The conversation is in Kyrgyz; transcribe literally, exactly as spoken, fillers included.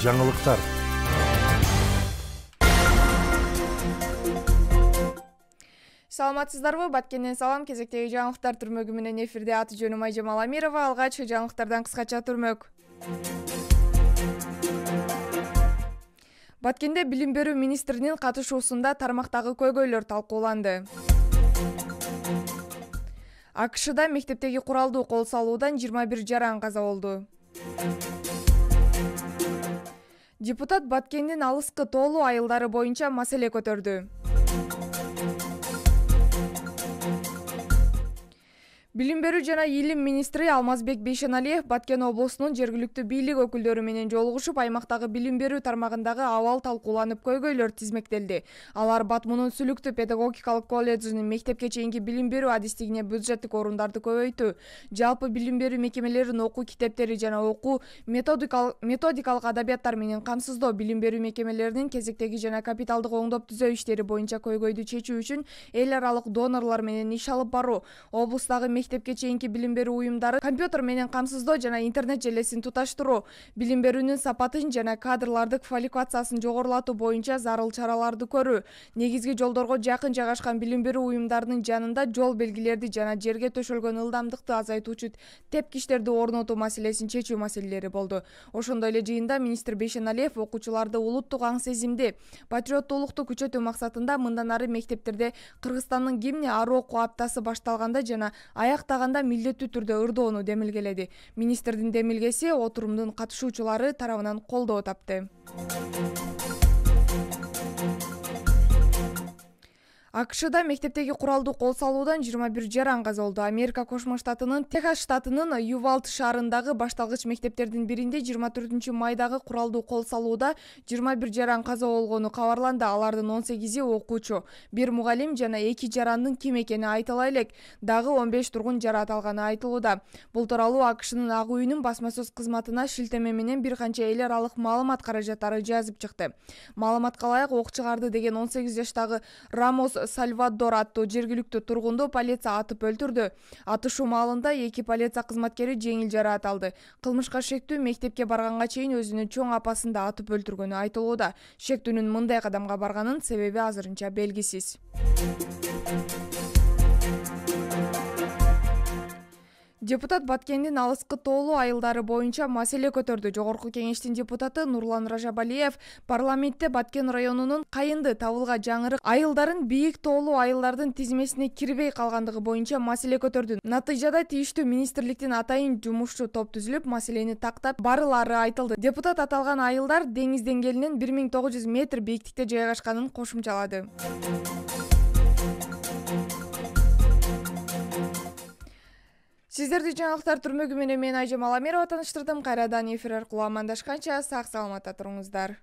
жаңылыктар. Саламатсыздарбы? Баткенден салам. Кезектеги жаңылыктар түрмөгү менен эфирде. Аты жөнүм Айжамал Амирова. Алгач жаңылыктардан кыскача түрмөк. Баткенде билим берүү министринин катышуусунда тармактагы көйгөйлөр талкууланды. АКШда мектептеги куралдуу кол салуудан жыйырма бир жаран каза болду. Депутат Баткендин алыскы тоолуу айылдары боюнча маселе көтөрдү. Билим берүү жана илим министри Алмазбек Бейшеналиев Баткен облусунун жергиликтүү бийлик өкүлдөрү менен жолугушуп, аймактагы билим берүү тармагындагы абал талкууланып, көйгөйлөр тизмектелди. Алар Батмунун Сүлүктүү педагогикалык колледжинин мектепке чейинки билим берүү адистигине бюджеттик орундарды көбөйтүү, жалпы билим берүү мекемелерин окуу китептери жана окуу методикалык методикалык адабияттар менен камсыздоо, билим берүү мекемелеринин кезектеги жана капиталдык оңдоп түзөө иштери боюнча көйгөйдү чечүү үчүн эл аралык донорлор менен иш алып баруу, облустагы мектепке чейинки билим берүү уюмдары компьютер менен камсыздоо жана интернет желесин туташтыруу, билим берүүнүн сапатын жана кадрлардын квалификациясын жогорулатуу боюнча зарыл чараларды көрүү, негизги жолдорго жакын жайгашкан билим берүү уюмдарынын жанында жол белгилерди жана жерге төшөлгөн ылдамдыкты азайтуучу тепкичтерди орнотуу маселесин чечүү маселелери болду. Ошондой эле жыйында министр Бейшеналиев окуучуларды улуттук аң сезимди, патриоттуулукту күчөтүү максатында мындан ары мектептерде Кыргызстандын гимни ар окуу аптасы башталганда жана аяктаганда милдеттүү түрдө ырдоону демилгеледи. Министрдин демилгеси отурумдун катышуучулары тарабынан колдоо тапты. АКШда мектептеги куралдуу кол салуудан жыйырма бир жаран каза болду. Америка Кошмо Штатынын Техас штатынын Ювалд шаарындагы башталгыч мектептердин биринде жыйырма төртүнчү майдагы куралдуу кол салууда жыйырма бир жаран каза болгону кабарланды. Алардын он сегизи окуучу, бир мугалим жана эки жарандын ким экени айтыла элек. Дагы он беш тургун жарат алганы айтылууда. Бул тууралуу АКШнын Ак үйүнүн басма сөз кызматына шилтеме менен бир канча эл аралык маалымат каражаттары жазып чыкты. Маалыматка ылайык, ок чыгарды деген он сегиз жаштагы Рамос Сальвадор аттуу жергиликтүү тургунду полиция атып өлтүрдү. Атышуу маалында эки полиция кызматкери жеңил жараат алды. Кылмышка шектүү мектепке барганга чейин өзүнүн чоң апасын да атып өлтүргөнү айтылууда. Шектүүнүн мындай кадамга барганын себеби азырынча белгисиз. Депутат Баткендин алыскы тоолуу айылдары боюнча маселе көтөрдү. Жогорку кеңештин депутаты Нурлан Ражабалиев парламентте Баткен районунун Кайынды, Табылга, Жаңырык айылдарын бийик тоолуу айылдардын тизмесине кирбей калгандыгы боюнча маселе көтөрдү. Натыйжада тийиштүү министрликтин атайын жумушчу топ түзүлүп, маселени тактап барылары айтылды. Депутат аталган айылдар деңиз деңгээлинен бир миң тогуз жүз метр бийиктикте жайгашканын кошумчалады. Сиздерди жаңылыктар түрмөгү менен мен Айжамал Амирова тааныштырдым. Кайрадан эфир аркылуу амандашканча сак саламатта туруңуздар.